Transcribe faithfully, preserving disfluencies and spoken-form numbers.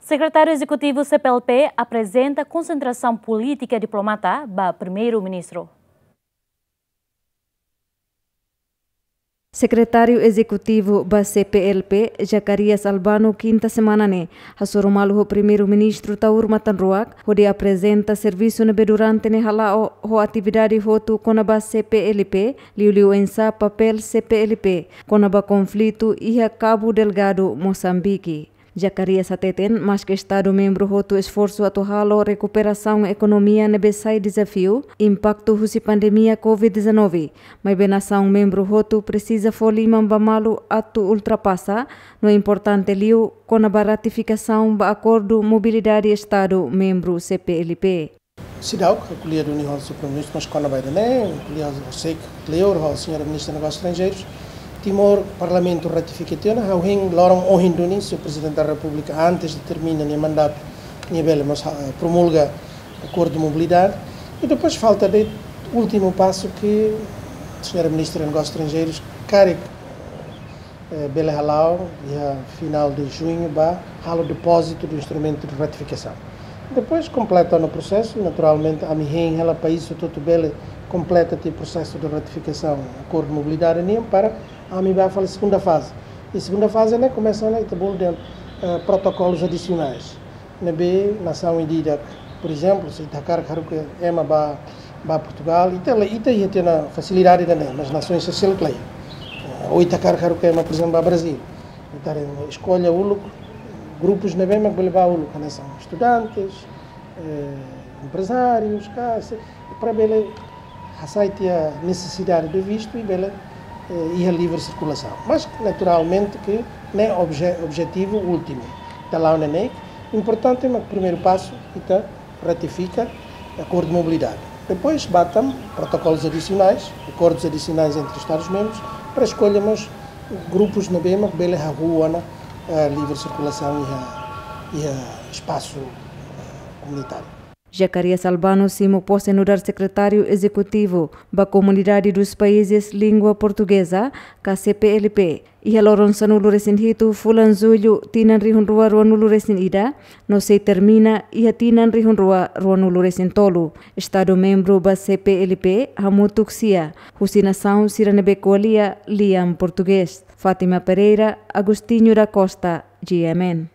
Sekretáriu Ezekutivu C P L P aprezenta konsentrasaun polítika diplomata ba Primeiru-Ministru. Sekretáriu Ezekutivu ba C P L P, Zacarias Albano, kinta semana ne'e hasoru malu ho Primeiru-Ministru Taur Matan Ruak, hodi aprezenta servisu ne'ebé durante ne'e hala'o ho atividade hotu kona-ba C P L P, liuliu oinsá papél C P L P kona-ba konflitu iha Cabo Delgado, Mosambike. Zacarias hateten, maske Estadu membru hotu esforsu atu halo rekuperasaun ekonomia ne'ebé sai dezafiu impaktu husi pandemia covid dezanove, maibé nasaun membru hotu presiza fó liman ba malu atu ultrapasa, no importante liu kona-ba ratifikasaun ba akordu mobilidade Estadu membru C P L P. Seidauk, ha'u ko'alia duni ho Señór Primeiru-Ministru, mas kona-ba ida-ne'e, ko'alia ho, ho Señór Ministru Negósius Estranjeirus, Timor Parlamentu ratifika tiha ona, ha'u hein loron ohin duni, Señór Prezidente da Repúblika, antes de termina nia mandatu, nia bele mós, ah, promulga akordu mobilidade. I depois falta de'it últimu pasu ke Señór Ministru Negósius Estranjeirus karik, eh, bele hala'o iha finál de juñu ba halo depózitu do instrumentu de ratifikasaun. Depois kompleta ona prosesu, naturalmente, ami hein hela país hotu-hotu bele kompleta tiha prosesu de ratifikasaun akordu mobilidade nian para ami bá fali segunda faze. I segunda faze ne'e komesa ona ita bolu dehan, eh, protokolus adisionais. Ne'ebé nasaun ida-idak, por ezemplu, se ita hakarak haruka ema ba, ba Portugal, ita la, ita iha tiha ona fasilidade ida-ne'e, mas nasaun sosiál klaru. Eh, ou ita hakarak haruka ema, por ezemplu, ba Brazil. Ita haree eskolla uluk, grupus ne'ebé mak bele bá uluk, hanesan estudantes, eh, emprezárius, ka, se, para bele hasai tiha nesesidade de vistu i bele, eh, iha livre sirkulasaun. Mas, naturalmente, ke ne'e obje-, objetivu últimu. Ita la'o ne'e, importante, mas primeiru pasu, ita ratifika akordu mobilidade. Depois, bá tan protokolus adisionais, akordos adicionais entre Estadus membrus, para eskolla mós grupus ne'ebé mak bele hahú ona, eh, livre sirkulasaun iha, iha espasu, eh, komunitáriu. Zacarias Albano simu pose nu'udar Sekretáriu Ezekutivu ba Comunidade dos Países Língua Portuguesa, ka C P L P, iha loron sanulu-resin-hitu fulan Jullu tinan rihun rua ruanulu-resin-ida, no sei termina iha tinan rihun rua ruanulu-resin-tolu. Estadu membru ba C P L P hamutuk sia, husi nasaun sira ne'ebé ko'alia lian portugés. Fátima Pereira, Agostinho da Costa, G M N.